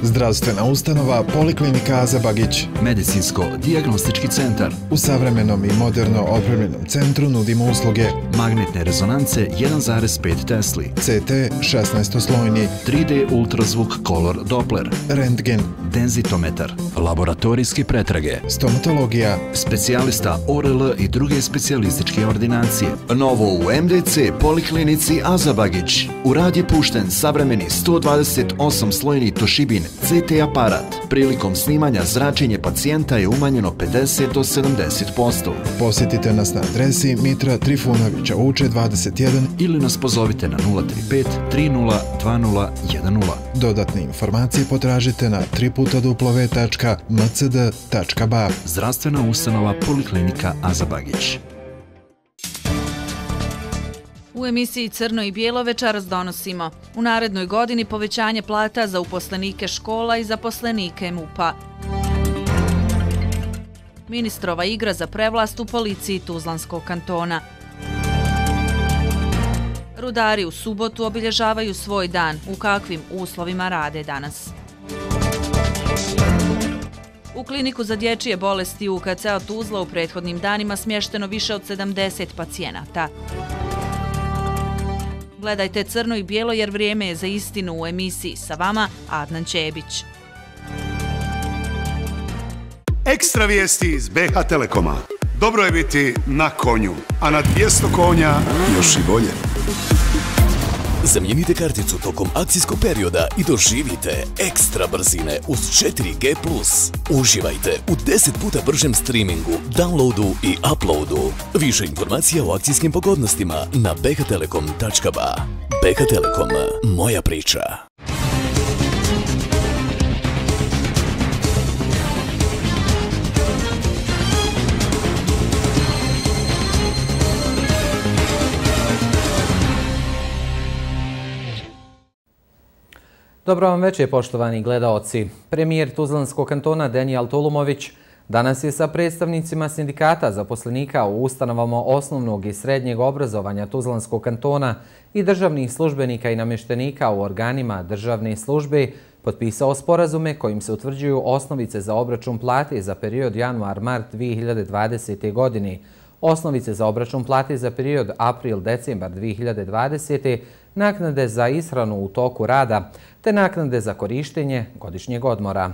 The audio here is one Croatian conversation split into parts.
Zdravstvena ustanova Poliklinika Aza Bagić. Medicinsko-dijagnostički centar. U savremenom i moderno opremljenom centru nudimo usluge magnetne rezonance 1,5 Tesli, CT 16-slojni, 3D ultrazvuk Color Doppler, rentgen, denzitometar, laboratorijske pretrage, stomatologija, specijalista ORL i druge specijalističke ordinacije. Novo u MDC Poliklinici Aza Bagić. U rad je pušten savremeni 128-slojni Toshibin CT aparat. Prilikom snimanja zračenje pacijenta je umanjeno 50 do 70%. Posjetite nas na adresi Mitra Trifunovića Uče 21 ili nas pozovite na 035 30 20 10. Dodatne informacije potražite na www.mcd.ba. Zdravstvena ustanova Poliklinika Aza Bagić. U emisiji Crno i bijelo večeras donosimo u narednoj godini povećanje plata za uposlenike škola i zaposlenike MUP-a. Ministrova igra za prevlast u policiji Tuzlanskog kantona. Rudari u subotu obilježavaju svoj dan. U kakvim uslovima rade danas? U kliniku za dječje bolesti UKC Tuzla u prethodnim danima smješteno više od 70 pacijenata. Gledajte Crno i bijelo jer vrijeme je za istinu u emisiji. Sa vama Adnan Čebić. Ekstra vijesti iz BH Telekoma. Dobro je biti na konju, a na 200 konja još i bolje. Zamijenite karticu tokom akcijskog perioda i doživite ekstra brzine uz 4G+. Uživajte u 10 puta bržem streamingu, downloadu i uploadu. Više informacija o akcijskim pogodnostima na bhtelekom.ba. BH Telekom, moja priča. Dobro vam večer, poštovani gledaoci. Premijer Tuzlanskog kantona Denijel Tulumović danas je sa predstavnicima sindikata zaposlenika u ustanovama osnovnog i srednjeg obrazovanja Tuzlanskog kantona i državnih službenika i namještenika u organima državne službe potpisao sporazume kojim se utvrđuju osnovice za obračun plate za period januar-mart 2020. godine, osnovice za obračun plate za period april-decembar 2020. naknade za ishranu u toku rada, te naknade za korištenje godišnjeg odmora.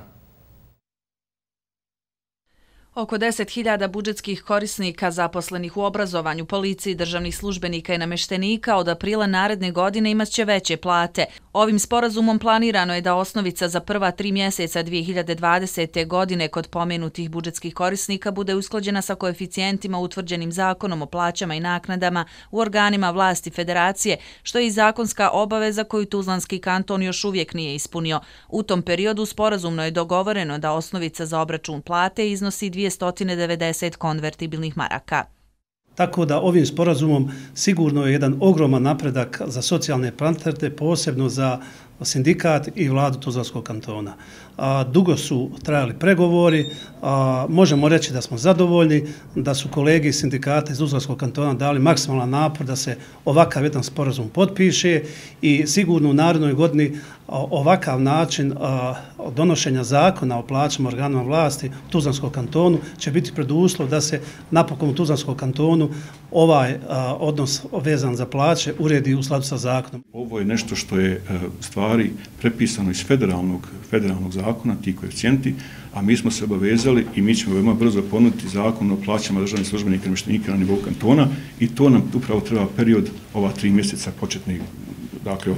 Oko 10.000 budžetskih korisnika zaposlenih u obrazovanju, policiji, državnih službenika i namještenika od aprila naredne godine imaće veće plate. Ovim sporazumom planirano je da osnovica za prva 3 mjeseca 2020. godine kod pomenutih budžetskih korisnika bude usklađena sa koeficijentima utvrđenim zakonom o plaćama i naknadama u organima vlasti federacije, što je i zakonska obaveza koju Tuzlanski kanton još uvijek nije ispunio. U tom periodu sporazumno je dogovoreno da osnovica za obračun plate iznosi 290 konvertibilnih maraka. Tako da ovim sporazumom sigurno je jedan ogroman napredak za socijalne partnere, posebno za sindikat i vladu Tuzlanskog kantona. Dugo su trajali pregovori, možemo reći da smo zadovoljni, da su kolege iz sindikata iz Tuzlanskog kantona dali maksimalan napor da se ovakav jedan sporazum potpiše i sigurno u narednoj godini ovakav način donošenja zakona o plaćama organima vlasti u Tuzlanskom kantonu će biti preduslov da se napokon u Tuzlanskom kantonu ovaj odnos vezan za plaće uredi u skladu sa zakonom. Ovo je nešto što je stvari prepisano iz federalnog zakona, ti koeficijenti, a mi smo se obavezali i mi ćemo veoma brzo ponuditi zakon o plaćama državnih službenika i namještenika na nivou kantona i to nam upravo treba period ova 3 mjeseca početnih, dakle od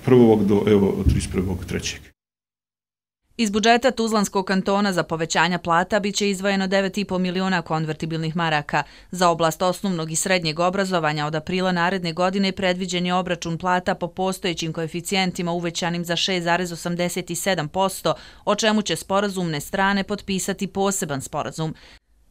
1. do 31.3. Iz budžeta Tuzlanskog kantona za povećanja plata biće izdvojeno 9,5 miliona konvertibilnih maraka. Za oblast osnovnog i srednjeg obrazovanja od aprila naredne godine predviđen je obračun plata po postojećim koeficijentima uvećanim za 6,87%, o čemu će sporazumne strane potpisati poseban sporazum.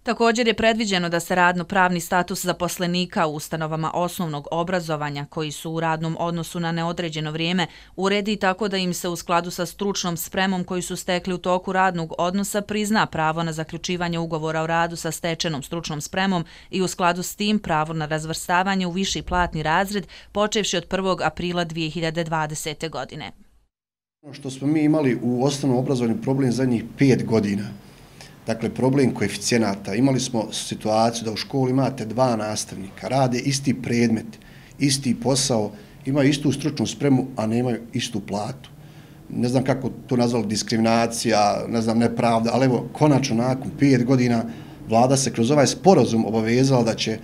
Također je predviđeno da se radno-pravni status zaposlenika u ustanovama osnovnog obrazovanja koji su u radnom odnosu na neodređeno vrijeme uredi tako da im se u skladu sa stručnom spremom koji su stekli u toku radnog odnosa prizna pravo na zaključivanje ugovora o radu sa stečenom stručnom spremom i u skladu s tim pravo na razvrstavanje u viši platni razred počevši od 1. aprila 2020. godine. Što smo mi imali u osnovnom obrazovanju problem zadnjih 5 godina, dakle problem koeficijenata, imali smo situaciju da u školi imate 2 nastavnika, rade isti predmet, isti posao, imaju istu stručnu spremu, a nemaju istu platu. Ne znam kako to nazvali, diskriminacija, ne znam, nepravda, ali evo, konačno nakon 5 godina vlada se kroz ovaj sporazum obavezala da će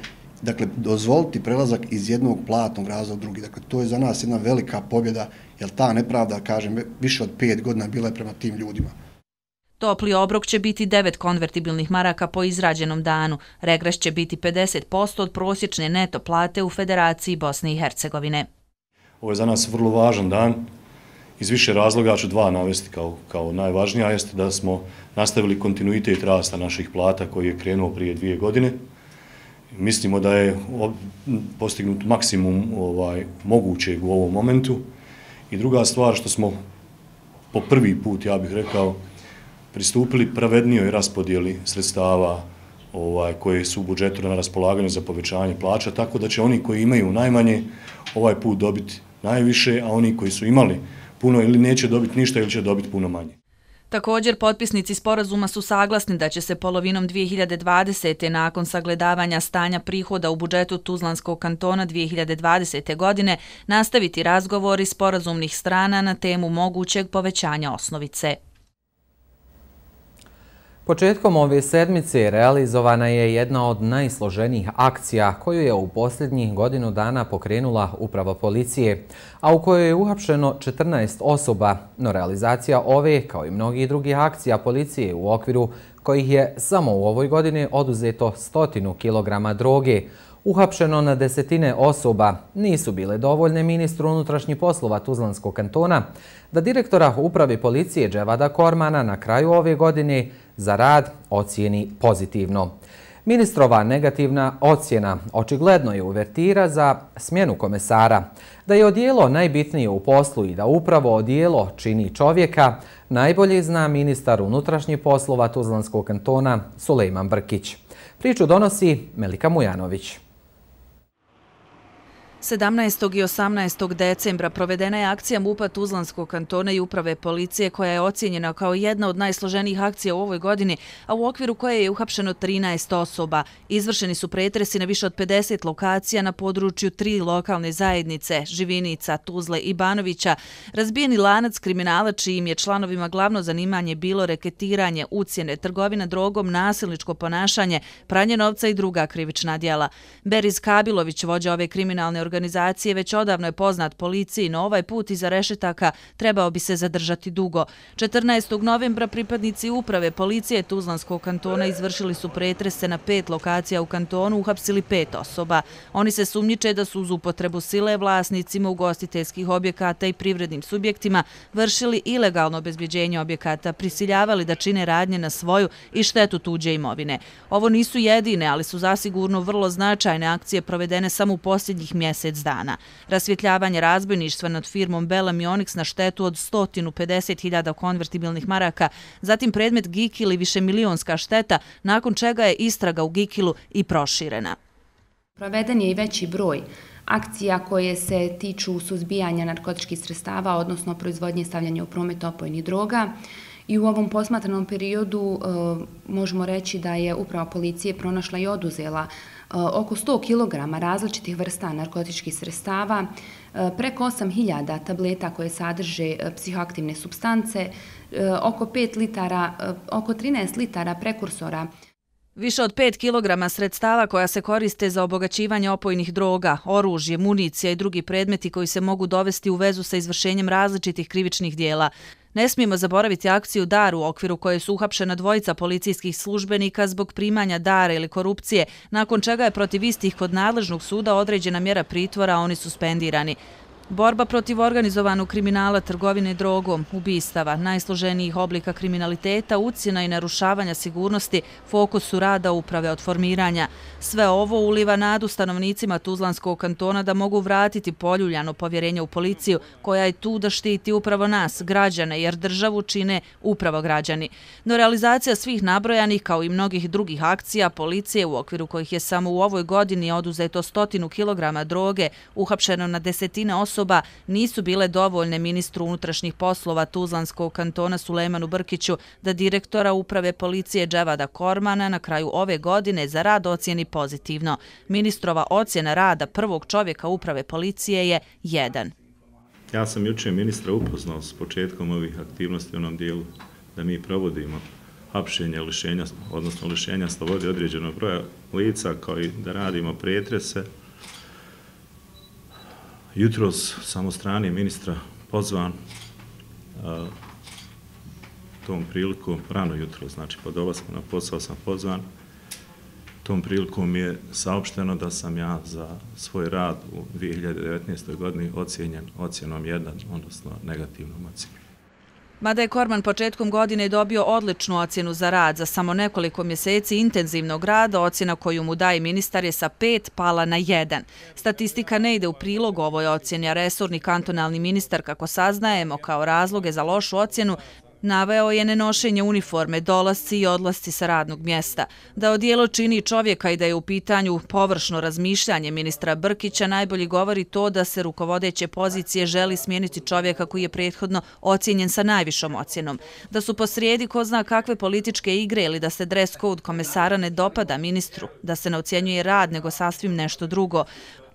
dozvoliti prelazak iz jednog platnog razreda u drugi. Dakle, to je za nas jedna velika pobjeda, jer ta nepravda, kažem, više od 5 godina bila je prema tim ljudima. Topli obrok će biti 9 konvertibilnih maraka po izrađenom danu. Regres će biti 50% od prosječne neto plate u Federaciji Bosne i Hercegovine. Ovo je za nas vrlo važan dan. Iz više razloga ću 2 navesti kao najvažnija, jeste da smo nastavili kontinuitet rasta naših plata koji je krenuo prije 2 godine. Mislimo da je postignut maksimum mogućeg u ovom momentu. I druga stvar, što smo po prvi put, ja bih rekao, pristupili pravednijoj raspodjeli sredstava koje su u budžetu na raspolaganju za povećanje plaća, tako da će oni koji imaju najmanje ovaj put dobiti najviše, a oni koji su imali puno ili neće dobiti ništa ili će dobiti puno manje. Također, potpisnici sporazuma su saglasni da će se polovinom 2020. nakon sagledavanja stanja prihoda u budžetu Tuzlanskog kantona 2020. godine nastaviti razgovori sporazumnih strana na temu mogućeg povećanja osnovice. Početkom ove sedmice realizovana je jedna od najsloženijih akcija koju je u posljednjih godinu dana pokrenula uprava policije, a u kojoj je uhapšeno 14 osoba, no realizacija ove, kao i mnogih drugih akcija policije u okviru kojih je samo u ovoj godini oduzeto 100 kg droge, uhapšeno na desetine osoba, nisu bile dovoljne ministru unutrašnjih poslova Tuzlanskog kantona da direktora uprave policije Dževada Kormana na kraju ove godine za rad ocijeni pozitivno. Ministrova negativna ocjena očigledno je uvertira za smjenu komesara. Da je odijelo najbitnije u poslu i da upravo odijelo čini čovjeka, najbolje zna ministar unutrašnjih poslova Tuzlanskog kantona Sulejman Brkić. Priču donosi Melika Mujanović. 17. i 18. decembra provedena je akcija MUP-a Tuzlanskog kantona i uprave policije koja je ocijenjena kao jedna od najsloženijih akcija u ovoj godini, a u okviru koje je uhapšeno 13 osoba. Izvršeni su pretresi na više od 50 lokacija na području 3 lokalne zajednice, Živinica, Tuzle i Banovića, razbijeni lanac kriminala čijim je članovima glavno zanimanje bilo reketiranje, ucjene, trgovina drogom, nasilničko ponašanje, pranje novca i druga krivična djela. Beriz Kabilović, vođa ove kriminalne organizacije, već odavno je poznat policiji, no ovaj put iza rešetaka trebao bi se zadržati dugo. 14. novembra pripadnici uprave policije Tuzlanskog kantona izvršili su pretrese na 5 lokacija u kantonu, uhapsili 5 osoba. Oni se sumnjiče da su uz upotrebu sile vlasnicima ugostiteljskih objekata i privrednim subjektima vršili ilegalno obezbeđenje objekata, prisiljavali da čine radnje na svoju i štetu tuđe imovine. Ovo nisu jedine, ali su zasigurno vrlo značajne akcije provedene samo u posljednjih mjesec dana. Rasvjetljavanje razbojništva nad firmom Belam i Onyx na štetu od 150.000 konvertibilnih maraka, zatim predmet Gikil i višemilionska šteta, nakon čega je istraga u Gikilu i proširena. Proveden je i veći broj akcija koje se tiču suzbijanja narkotičkih sredstava, odnosno proizvodnje i stavljanja u promet opojnih droga. I u ovom posmatranom periodu možemo reći da je uprava policije pronašla i oduzela oko 100 kg različitih vrsta narkotičkih sredstava, preko 8.000 tableta koje sadrže psihoaktivne supstance, oko 13 litara prekursora. Više od 5 kg sredstava koja se koriste za obogaćivanje opojnih droga, oružje, municija i drugi predmeti koji se mogu dovesti u vezu sa izvršenjem različitih krivičnih dijela. Ne smijemo zaboraviti akciju Dar u okviru koje su uhapšena 2 policijskih službenika zbog primanja dara ili korupcije, nakon čega je protiv istih kod nadležnog suda određena mjera pritvora, a oni suspendirani. Borba protiv organizovanog kriminala, trgovine drogom, ubistava, najsloženijih oblika kriminaliteta, ucjena i narušavanja sigurnosti fokus su rada uprave od formiranja. Sve ovo uliva nadu stanovnicima Tuzlanskog kantona da mogu vratiti poljuljano povjerenje u policiju koja je tu da štiti upravo nas, građane, jer državu čine upravo građani. No realizacija svih nabrojanih kao i mnogih drugih akcija policije u okviru kojih je samo u ovoj godini oduzeto 100 kg droge, uhapšeno na desetine osoba, osoba nisu bile dovoljne ministru unutrašnjih poslova Tuzlanskog kantona Sulejmanu Brkiću da direktora uprave policije Dževada Kormana na kraju ove godine za rad ocijeni pozitivno. Ministrova ocjena rada prvog čovjeka uprave policije je 1. Ja sam jučer ministra upoznao s početkom ovih aktivnosti u onom dijelu da mi provodimo hapšenje, odnosno lišenja slobode određenog broja lica, kao i da radimo pretrese. Jutros sam od strane ministra pozvan, tom priliku, rano jutro, znači po dolasku na posao sam pozvan, tom prilikom mi je saopšteno da sam ja za svoj rad u 2019. godini ocijenjen ocjenom 1, odnosno negativnom ocjenom. Mada je Korman početkom godine dobio odličnu ocjenu za rad, za samo nekoliko mjeseci intenzivnog rada, ocjena koju mu daje ministar je sa 5 pala na 1. Statistika ne ide u prilog ovoj ocjeni, a resorni kantonalni ministar, kako saznajemo, kao razloge za lošu ocjenu, naveo je nenošenje uniforme, dolasci i odlasci sa radnog mjesta. Da odijelo čini čovjeka i da je u pitanju površno razmišljanje ministra Brkića, najbolji govori to da se rukovodeće pozicije želi smijeniti čovjeka koji je prethodno ocijenjen sa najvišom ocjenom. Da su posrijedi ko zna kakve političke igre ili da se dress code komesara ne dopada ministru, da se ne ocjenjuje rad nego sasvim nešto drugo.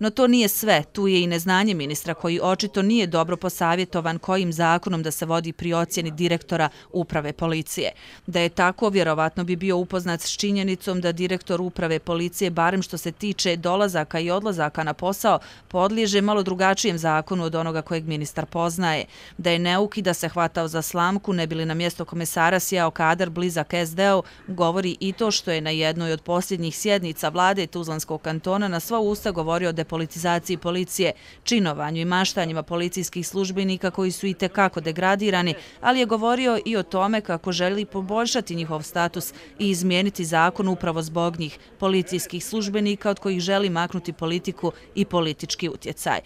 No to nije sve, tu je i neznanje ministra koji očito nije dobro posavjetovan kojim zakonom da se vodi pri ocjeni direktora uprave policije. Da je tako, vjerovatno bi bio upoznat s činjenicom da direktor uprave policije, barem što se tiče dolazaka i odlazaka na posao, podliježe malo drugačijem zakonu od onoga kojeg ministar poznaje. Da je neuk i da se hvatao za slamku, ne bili na mjesto komesara sjao kadar blizak SD-u, govori i to što je na jednoj od posljednjih sjednica vlade Tuzlanskog kantona na sva usta govorio o depolitizaciji policije, činovanju i maštanjima policijskih službenika koji su i tekako degradirani, ali je govorio i o tome kako želi poboljšati njihov status i izmijeniti zakon upravo zbog njih, policijskih službenika od kojih želi maknuti politiku i politički utjecaj.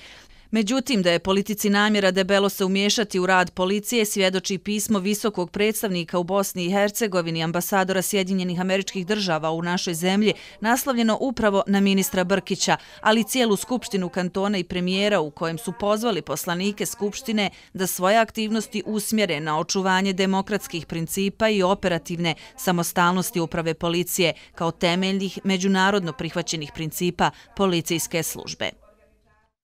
Međutim, da je politici namjera debelo se umiješati u rad policije, svjedoči pismo visokog predstavnika u Bosni i Hercegovini, ambasadora Sjedinjenih Američkih Država u našoj zemlji, naslovljeno upravo na ministra Brkića, ali cijelu skupštinu kantona i premijera u kojem su pozvali poslanike skupštine da svoje aktivnosti usmjere na očuvanje demokratskih principa i operativne samostalnosti uprave policije kao temeljnih međunarodno prihvaćenih principa policijske službe.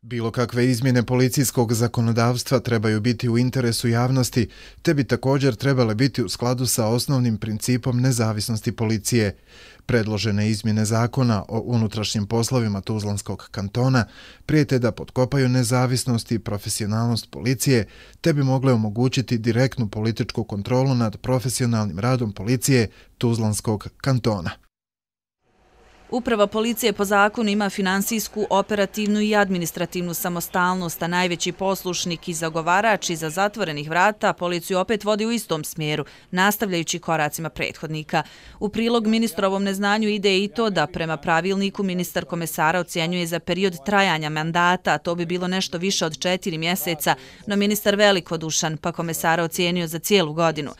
Bilo kakve izmjene policijskog zakonodavstva trebaju biti u interesu javnosti, te bi također trebale biti u skladu sa osnovnim principom nezavisnosti policije. Predložene izmjene zakona o unutrašnjim poslovima Tuzlanskog kantona prijete da potkopaju nezavisnost i profesionalnost policije, te bi mogle omogućiti direktnu političku kontrolu nad profesionalnim radom policije Tuzlanskog kantona. Uprava policije po zakonu ima finansijsku, operativnu i administrativnu samostalnost, a najveći poslušnik i zagovarač iza zatvorenih vrata policiju opet vodi u istom smjeru, nastavljajući koracima prethodnika. U prilog ministrovom neznanju ide i to da prema pravilniku ministar komesara ocjenjuje za period trajanja mandata, a to bi bilo nešto više od 4 mjeseca, no ministar velikodušan pa komesara ocijenio za cijelu godinu.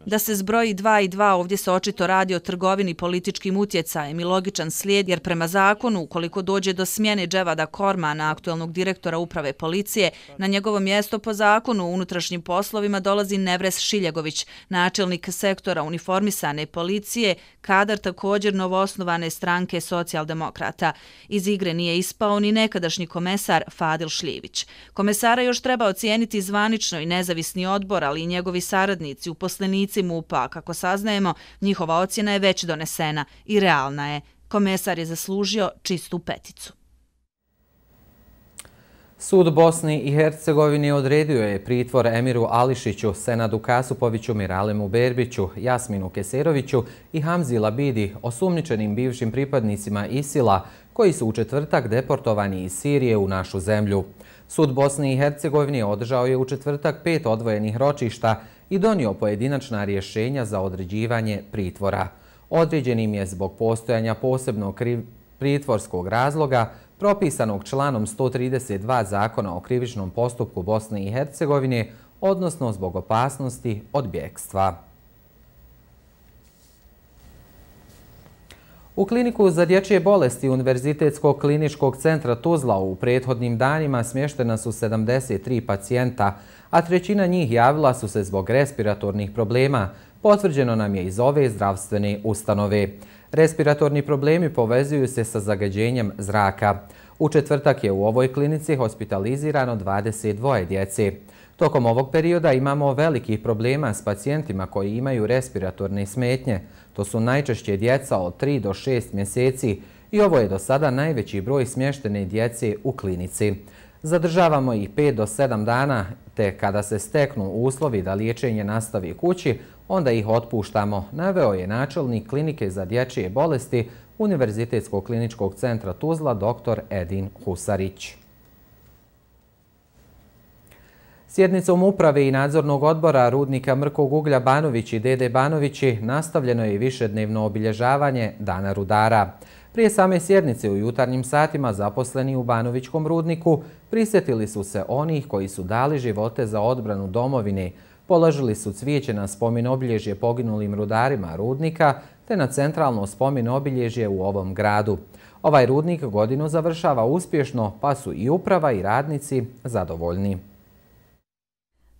Da se zbroji 2 i 2, ovdje se očito radi o trgovini političkim utjecajem i logičan slijed, jer prema zakonu, ukoliko dođe do smjene Dževada Kormana, aktualnog direktora uprave policije, na njegovo mjesto po zakonu u unutrašnjim poslovima dolazi Nevres Šiljagović, načelnik sektora uniformisane policije, kadar također novoosnovane stranke socijaldemokrata. Iz igre nije ispao ni nekadašnji komesar Fadil Šljivić. Komesara još treba ocijeniti zvanično i nezavisni odbor, ali i njegovi saradnici, uposlenici MUP-a. Kako saznajemo, njihova ocjena je već donesena i realna je. Komesar je zaslužio čistu peticu. Sud Bosni i Hercegovine odredio je pritvor Emiru Ališiću, Senadu Kasupoviću, Miralemu Berbiću, Jasminu Keseroviću i Hamzi Labidi, osumnjičenim bivšim pripadnicima ISIL-a, koji su u četvrtak deportovani iz Sirije u našu zemlju. Sud Bosne i Hercegovine održao je u četvrtak 5 odvojenih ročišta i donio pojedinačna rješenja za određivanje pritvora. Određenim je zbog postojanja posebnog pritvorskog razloga propisanog članom 132 Zakona o krivičnom postupku Bosne i Hercegovine, odnosno zbog opasnosti od bjegstva. U kliniku za dječje bolesti Univerzitetskog kliničkog centra Tuzla u prethodnim danima smještena su 73 pacijenta, a trećina njih javila su se zbog respiratornih problema, potvrđeno nam je iz ove zdravstvene ustanove. Respiratorni problemi povezuju se sa zagađenjem zraka. U četvrtak je u ovoj klinici hospitalizirano 22 djece. Tokom ovog perioda imamo velikih problema s pacijentima koji imaju respiratorne smetnje. To su najčešće djeca od 3 do 6 mjeseci i ovo je do sada najveći broj smještene djece u klinici. Zadržavamo ih 5 do 7 dana, te kada se steknu uslovi da liječenje nastavi kući, onda ih otpuštamo, naveo je načelnik klinike za dječje bolesti Univerzitetskog kliničkog centra Tuzla dr. Edin Husarić. Sjednicom uprave i nadzornog odbora rudnika Mrkog uglja Banović i Dede Banovići nastavljeno je višednevno obilježavanje Dana rudara. Prije same sjednice u jutarnjim satima zaposleni u Banovićkom rudniku prisjetili su se onih koji su dali živote za odbranu domovine, položili su cvijeće na spomen obilježje poginulim rudarima rudnika te na centralno spomen obilježje u ovom gradu. Ovaj rudnik godinu završava uspješno, pa su i uprava i radnici zadovoljni.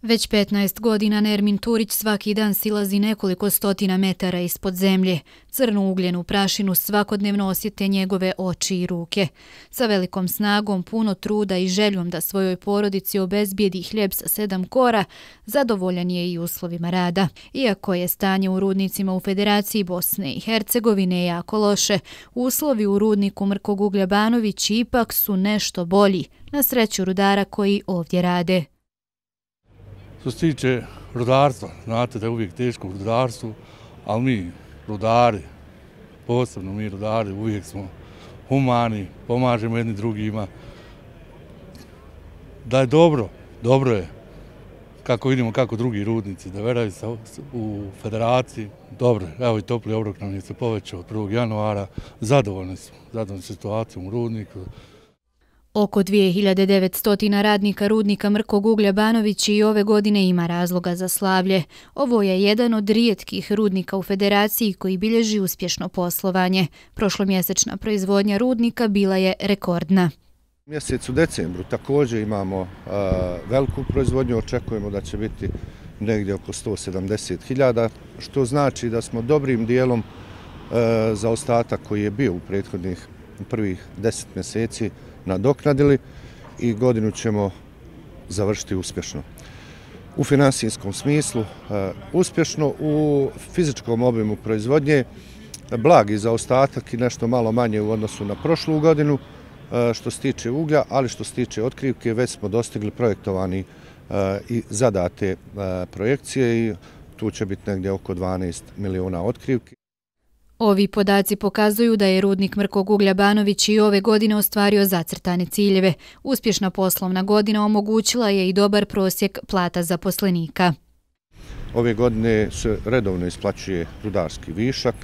Već 15 godina Nermin Turić svaki dan silazi nekoliko stotina metara ispod zemlje. Crnu ugljenu prašinu svakodnevno osjete njegove oči i ruke. Sa velikom snagom, puno truda i željom da svojoj porodici obezbijedi hljeb sa 7 kora, zadovoljan je i uslovima rada. Iako je stanje u rudnicima u Federaciji Bosne i Hercegovine jako loše, uslovi u rudniku Mrkog uglja Banović ipak su nešto bolji, na sreću rudara koji ovdje rade. Što se tiče rudarstva, znate da je uvijek teško u rudarstvu, ali mi rudari, posebno mi rudari, uvijek smo humani, pomažemo jedni drugima. Da je dobro, dobro je. Kako vidimo kako drugi rudnici da veraju u federaciji, dobro je. Evo i topli obrok nam je se povećao od 1. januara, zadovoljni smo situacijom u rudniku. Oko 2900 radnika rudnika Mrkog uglja Banović i ove godine ima razloga za slavlje. Ovo je jedan od rijetkih rudnika u Federaciji koji bilježi uspješno poslovanje. Prošlomjesečna proizvodnja rudnika bila je rekordna. U mjesecu decembru također imamo veliku proizvodnju, očekujemo da će biti negdje oko 170.000, što znači da smo dobrim dijelom za ostatak koji je bio u prethodnih prvih 10 mjeseci nadoknadili i godinu ćemo završiti uspješno. U finansijskom smislu uspješno, u fizičkom obimu proizvodnje blagi zaostatak i nešto malo manje u odnosu na prošlu godinu što se tiče uglja, ali što se tiče otkrivke već smo dostigli projektovani i zadate projekcije i tu će biti negdje oko 12 miliona otkrivki. Ovi podaci pokazuju da je rudnik Mrkog uglja Banović i ove godine ostvario zacrtane ciljeve. Uspješna poslovna godina omogućila je i dobar prosjek plata zaposlenika. Ove godine se redovno isplaćuje rudarski višak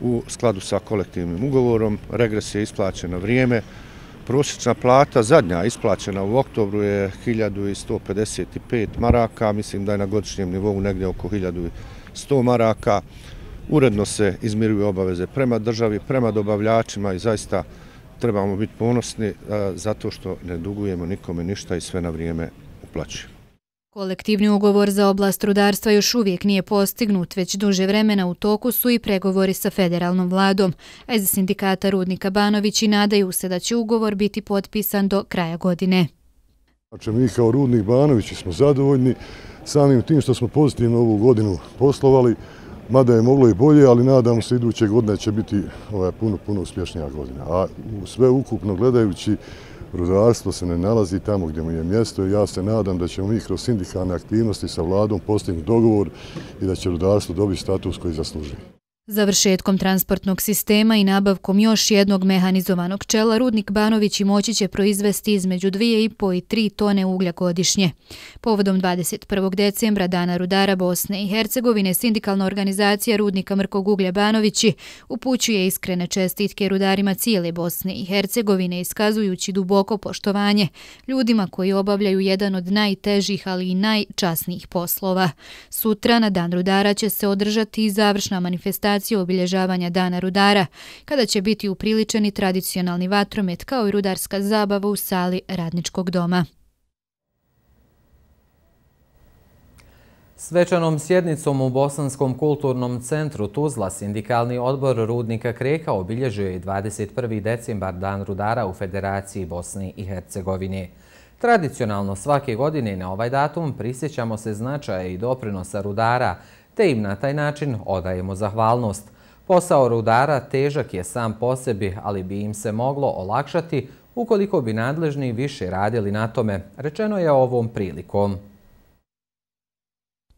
u skladu sa kolektivnim ugovorom, regres je isplaćen na vrijeme. Prosječna plata zadnja isplaćena u oktobru je 1155 maraka, mislim da je na godišnjem nivou negdje oko 1100 maraka. Uredno se izmiruju obaveze prema državi, prema dobavljačima i zaista trebamo biti ponosni zato što ne dugujemo nikome ništa i sve na vrijeme uplaćujemo. Kolektivni ugovor za oblast rudarstva još uvijek nije postignut, već duže vremena u toku su i pregovori sa federalnom vladom, a iz sindikata rudnika Banović i nadaju se da će ugovor biti potpisan do kraja godine. Znači, mi kao rudnik Banovići smo zadovoljni samim tim što smo pozitivno ovu godinu poslovali, mada je moglo i bolje, ali nadamo se iduće godine će biti puno uspješnija godina. A sve ukupno gledajući, rudarstvo se ne nalazi tamo gdje mu je mjesto i ja se nadam da ćemo mi kroz sindikalne aktivnosti sa vladom postignuti dogovor i da će rudarstvo dobiti status koji zaslužuje. Završetkom transportnog sistema i nabavkom još jednog mehanizovanog čela, rudnik Banović i moći će proizvesti između 2,5 i 3 tone uglja godišnje. Povodom 21. decembra, Dana rudara Bosne i Hercegovine, sindikalna organizacija rudnika Mrkog uglja Banovići upućuje iskrene čestitke rudarima cijele Bosne i Hercegovine, iskazujući duboko poštovanje ljudima koji obavljaju jedan od najtežih, ali i najčasnijih poslova. Sutra na Dan rudara će se održati i završna manifestacija organizacije obilježavanja Dana rudara, kada će biti upriličeni tradicionalni vatromet kao i rudarska zabava u sali Radničkog doma. Svečanom sjednicom u Bosanskom kulturnom centru Tuzla sindikalni odbor rudnika Kreka obilježio je 21. decembar Dan rudara u Federaciji Bosne i Hercegovine. Tradicionalno svake godine na ovaj datum prisjećamo se značaja i doprinosa rudara, te im na taj način odajemo zahvalnost. Posao rudara težak je sam po sebi, ali bi im se moglo olakšati ukoliko bi nadležni više radili na tome, rečeno je ovom prilikom.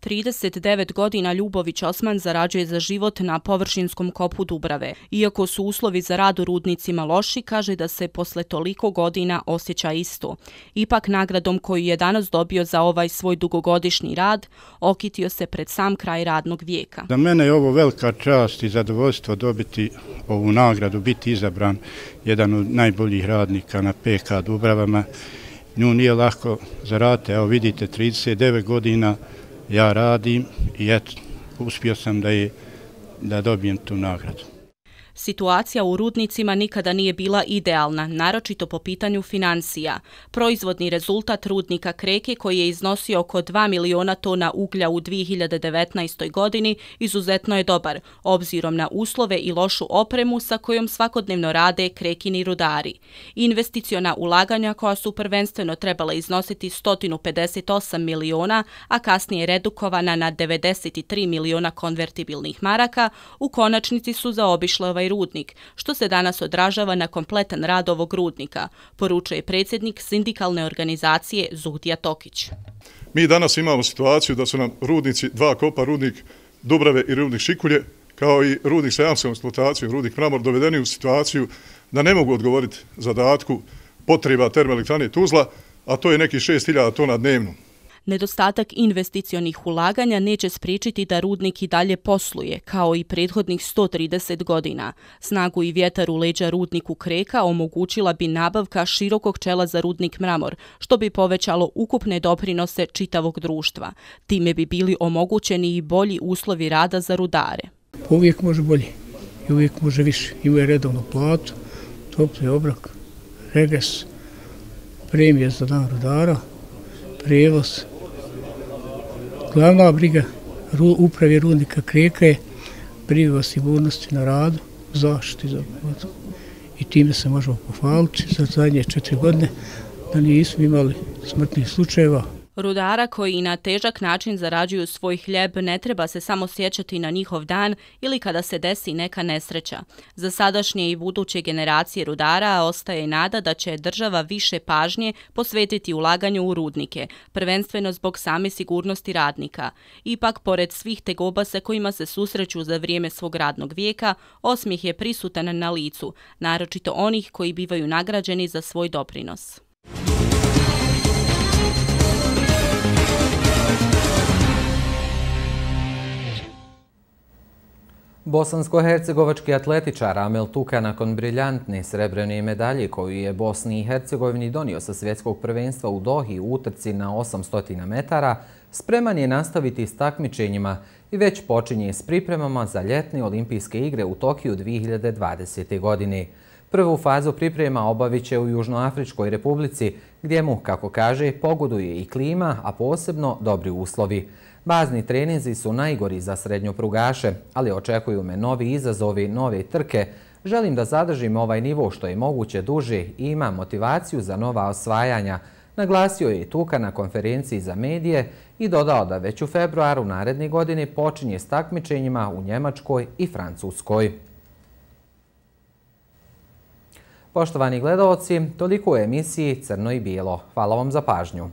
39 godina Ljubović Osman zarađuje za život na površinskom kopu Dubrave. Iako su uslovi za rad u rudnicima loši, kaže da se posle toliko godina osjeća isto. Ipak nagradom koju je danas dobio za ovaj svoj dugogodišnji rad, okitio se pred sam kraj radnog vijeka. Za mene je ovo velika čast i zadovoljstvo dobiti ovu nagradu, biti izabran jedan od najboljih radnika na PK Dubravama. Nju nije lako zaraditi, evo vidite, 39 godina ja radim i eto, uspio sam da dobijem tu nagradu. Situacija u rudnicima nikada nije bila idealna, naročito po pitanju financija. Proizvodni rezultat rudnika Kreke, koji je iznosio oko 2 miliona tona uglja u 2019. godini, izuzetno je dobar, obzirom na uslove i lošu opremu sa kojom svakodnevno rade Krekini rudari. Investiciona ulaganja koja su prvenstveno trebala iznositi 158 miliona, a kasnije redukovana na 93 miliona konvertibilnih maraka, u konačnici su zaobišle ovaj rudnik, što se danas odražava na kompletan rad ovog rudnika, poručuje predsjednik sindikalne organizacije Zuhtija Tokić. Mi danas imamo situaciju da su nam rudnici, dva kopa, rudnik Dubrave i rudnik Šikulje, kao i rudnik sa jamstvenom eksploatacijom, rudnik Mramor, dovedeni u situaciju da ne mogu odgovoriti zadatku potreba termoelektrane Tuzla, a to je nekih 6.000 tona dnevno. Nedostatak investicionih ulaganja neće spriječiti da rudnik i dalje posluje, kao i prethodnih 130 godina. Snagu i vjetar u leđa rudniku Kreka omogućila bi nabavka širokog čela za rudnik Mramor, što bi povećalo ukupne doprinose čitavog društva. Time bi bili omogućeni i bolji uslovi rada za rudare. Uvijek može bolje i uvijek može više. Imaju redovnu platu, topli obrok, regres, premije za dan rudara, prijevoz. Glavna briga uprave rudnika Kreka je briga o sigurnosti na radu, zaštiti za vodu. I time se možemo pohvaliti za zadnje 4 godine da nismo imali smrtnih slučajeva. Rudara koji na težak način zarađuju svoj hljeb ne treba se samo sjećati na njihov dan ili kada se desi neka nesreća. Za sadašnje i buduće generacije rudara ostaje nada da će država više pažnje posvetiti ulaganju u rudnike, prvenstveno zbog same sigurnosti radnika. Ipak, pored svih tegoba sa kojima se susreću za vrijeme svog radnog vijeka, osmijeh je prisutan na licu, naročito onih koji bivaju nagrađeni za svoj doprinos. Bosansko-hercegovački atletičar Amel Tuka nakon briljantne srebrene medalje koju je Bosni i Hercegovini donio sa svjetskog prvenstva u Dohi u utrci na 800 metara, spreman je nastaviti s takmičenjima i već počinje s pripremama za ljetne olimpijske igre u Tokiju 2020. godine. Prvu fazu priprema obavit će u Južnoafričkoj republici, gdje mu, kako kaže, pogoduje i klima, a posebno dobri uslovi. Bazni treninzi su najgori za srednjoprugaše, ali očekuju me novi izazovi, nove trke. Želim da zadržim ovaj nivo što je moguće duže i imam motivaciju za nova osvajanja, naglasio je Tuka na konferenciji za medije i dodao da već u februaru naredne godine počinje s takmičenjima u Njemačkoj i Francuskoj. Poštovani gledaoci, toliko u emisiji Crno i bijelo. Hvala vam za pažnju.